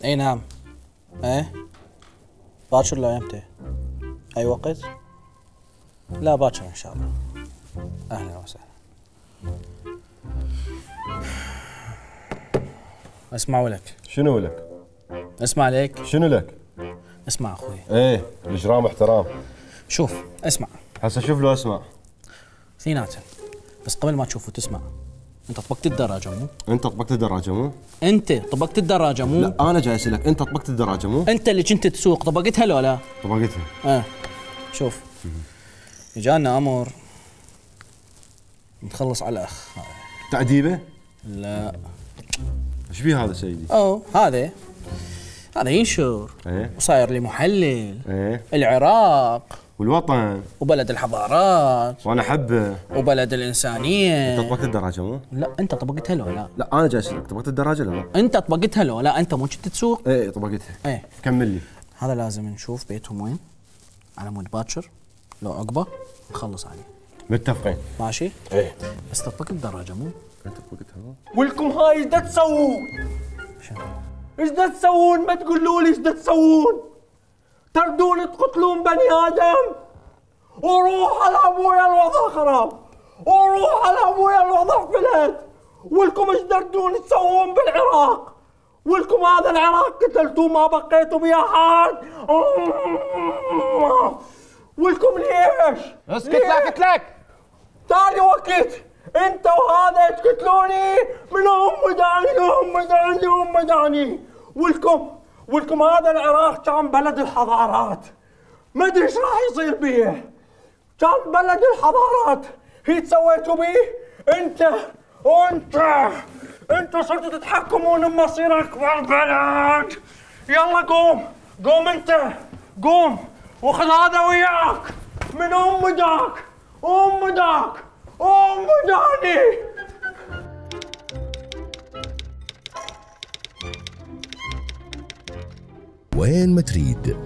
اي نعم. ايه باكر لو يمتى؟ اي وقت؟ لا باكر ان شاء الله. اهلا وسهلا. اسمع ولك. شنو لك؟ اسمع لك. شنو لك؟ اسمع اخوي. ايه الاجرام احترام. شوف اسمع. هسه شوف لو اسمع. اثنيناتهم. بس قبل ما تشوف وتسمع، انت طبقت الدراجه مو؟ انت طبقت الدراجه مو؟ انت طبقت الدراجه مو؟ لا انا جاي اسالك، انت طبقت الدراجه مو؟ انت اللي كنت تسوق طبقتها لو لا؟ طبقتها. شوف اجانا امر نخلص على الاخ. تأديبه؟ لا. ايش بيه هذا سيدي؟ هذا ينشر. ايه وصاير لي محلل. ايه العراق والوطن وبلد الحضارات وانا احبه وبلد الانسانيه. انت طبقت الدراجه مو؟ لا انت طبقتها لو لا؟ لا انا جاي اسالك، طبقت الدراجه ولا لا؟ انت طبقتها لو لا؟ انت مو كنت تسوق؟ ايه طبقتها. ايه كمل لي. هذا لازم نشوف بيتهم وين على مود باكر، لو عقبه نخلص عليه. متفقين. ماشي؟ ايه بس طبقت الدراجه مو؟ انت طبقتها مو؟ ولكم هاي ايش دا تسوون؟ شنو؟ ايش دا تسوون؟ ما تقولوا لي ايش دا تسوون؟ تردون تقتلون بني ادم؟ وروح على ابويا الوضع خراب، وروح على ابويا الوضع فلت. ولكم ايش تردون تسوون بالعراق؟ ولكم هذا العراق قتلتوه ما بقيتوا بيه احد. ولكم ليش؟ اسكت لك لك. تالي وقت انت وهذا تقتلوني من ام داني. ولكم هذا العراق كان بلد الحضارات، ما ادري ايش راح يصير بيه. كان بلد الحضارات، هي سويتوا بيه انت صرتوا تتحكمون بمصير اكبر بلد. يلا قوم انت، قوم وخذ هذا وياك من ام داني. وين ما تريد